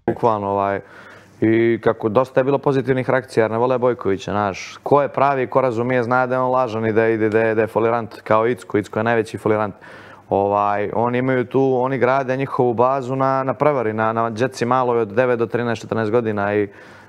Bukvalno i kako dosta je bilo pozitivnih reakcija, jer ne vole Bojkovića, znaš. Ko je pravi, ko razumije, zna da je on lažan i da je folirant, kao Icko. Icko je najveći folirant. Oni imaju tu, oni grade njihovu bazu na prevari, na džetci maloj od 9 do 13-14 godina i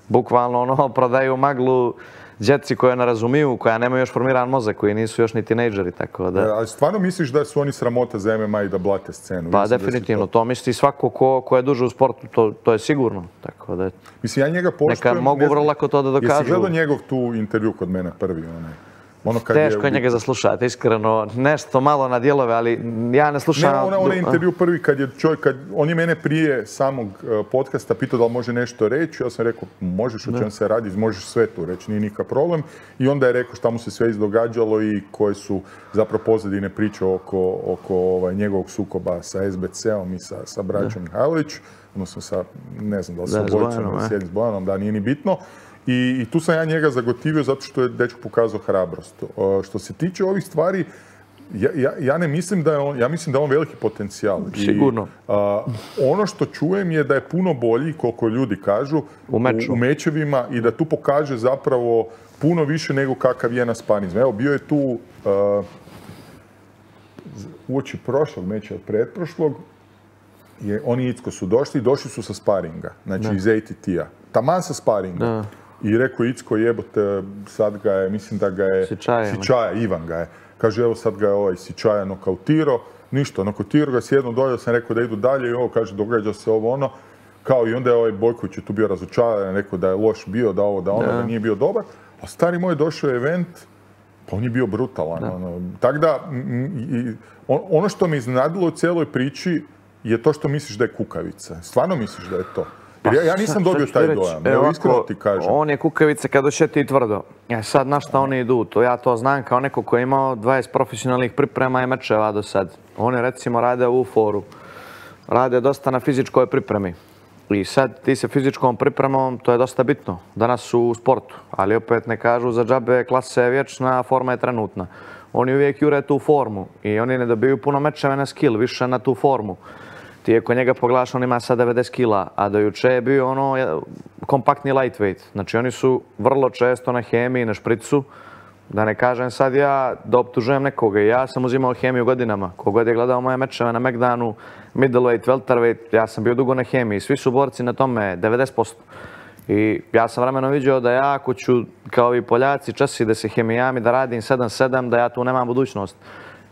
bukvalno prodaju maglu džetci koje ne razumiju, koja nemaju još formiran mozak, koji nisu još ni tinejdžeri, tako da... Ali stvarno misliš da su oni sramota za MMA i da blate scenu? Pa definitivno, to misli svako ko je duže u sportu, to je sigurno, tako da... Mislim, ja njega poštujem... Neka mogu vrlo lako to da dokažu. Jesi gledao njegov tu intervju kod mene prvi, onaj? Teško je njega zaslušati, iskreno. Nešto malo na dijelove, ali ja ne slušam... Ne, onaj intervju prvi kad je čovjek, on je mene prije samog podcasta pitao da li može nešto reći. Ja sam rekao, možeš, o čem se radi, možeš sve tu reći, nije nikakav problem. I onda je rekao šta mu se sve izdogađalo i koje su zapravo pozadine priče oko njegovog sukoba sa SBC-om i sa braćom Mihajlović. Odnosno sa, ne znam da li sa Bojcom, s Bojanom, da nije ni bitno. I tu sam ja njega zagotivio zato što je dečko pokazao hrabrost. Što se tiče ovih stvari, ja ne mislim da je on, ja mislim da je on veliki potencijal. Sigurno. Ono što čujem je da je puno bolji, koliko ljudi kažu, u mečevima i da tu pokaže zapravo puno više nego kakav je na sparinzima. Evo, bio je tu uoči prošlog meča, pretprošlog, oni i Icko su došli su sa sparinga, znači iz ATT-a. Taman sa sparinga. I rekao Icko, jebote, sad ga je, mislim da ga je... Sičaja, Ivan ga je. Kaže, evo sad ga je ovaj Sičaja nokautirao. Ništa, nokautirao ga, sjedno dolje, sam rekao da idu dalje i ovo, kaže, događa se ovo ono. Kao i onda je ovaj Bojković je tu bio razočaran, rekao da je loš bio, da ovo, da ono, da nije bio dobar. A stari moj došao je event, pa on je bio brutalan. Tako da, ono što me iznenadilo u cijeloj priči je to što misliš da je kukavica. Stvarno misliš da je to? Ja nisam dobio taj dojam, evo iskreno ti kažem. On je kukavica kad ošeti tvrdo. Sad na šta oni idu, ja to znam kao neko koji je imao 20 profesionalnih priprema i mečeva do sad. Oni recimo rade u foru, rade dosta na fizičkoj pripremi. I sad ti se fizičkom pripremom, to je dosta bitno, danas su u sportu, ali opet ne kažu za džabe klasa je vječna, forma je trenutna. Oni uvijek jure tu formu i oni ne dobiju puno mečeva na skill, više na tu formu. Ti je kod njega pogledaš, on ima sad 90 kila, a do juče je bio kompaktni lightweight. Znači oni su vrlo često na hemiji, na špricu. Da ne kažem sad ja da optužujem nekoga. Ja sam uzimao hemiju godinama. Kogod je gledao moje mečeve na Megdanu, middleweight, welterweight, ja sam bio dugo na hemiji. Svi su borci na tome 90%. I ja sam vremenom vidio da ja ako ću, kao i Poljaci, časi da se hemijami, da radim 7-7, da ja tu nemam budućnost.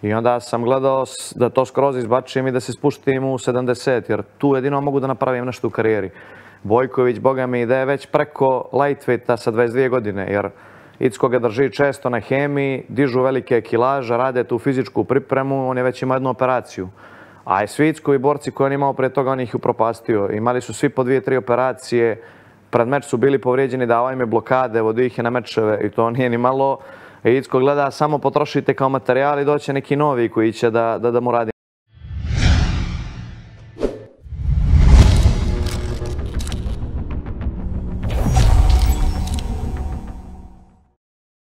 I onda sam gledao da to skroz izbačim i da se spuštim u 70, jer tu jedino mogu da napravim nešto u karijeri. Bojković, boga mi, da je već preko lightweighta sa 22 godine, jer Icko ga drži često na hemiji, dižu velike kilaže, rade tu fizičku pripremu, on je već imao jednu operaciju. A i svi Ickovi borci koje on imao pre toga, on ih upropastio. Imali su svi po 2-3 operacije, pred meč su bili povrijeđeni, davao im je blokade, vodio ih je na mečeve i to nije ni malo. Icko gleda, samo potrošite kao materijal i doće neki novi koji će da mu radi.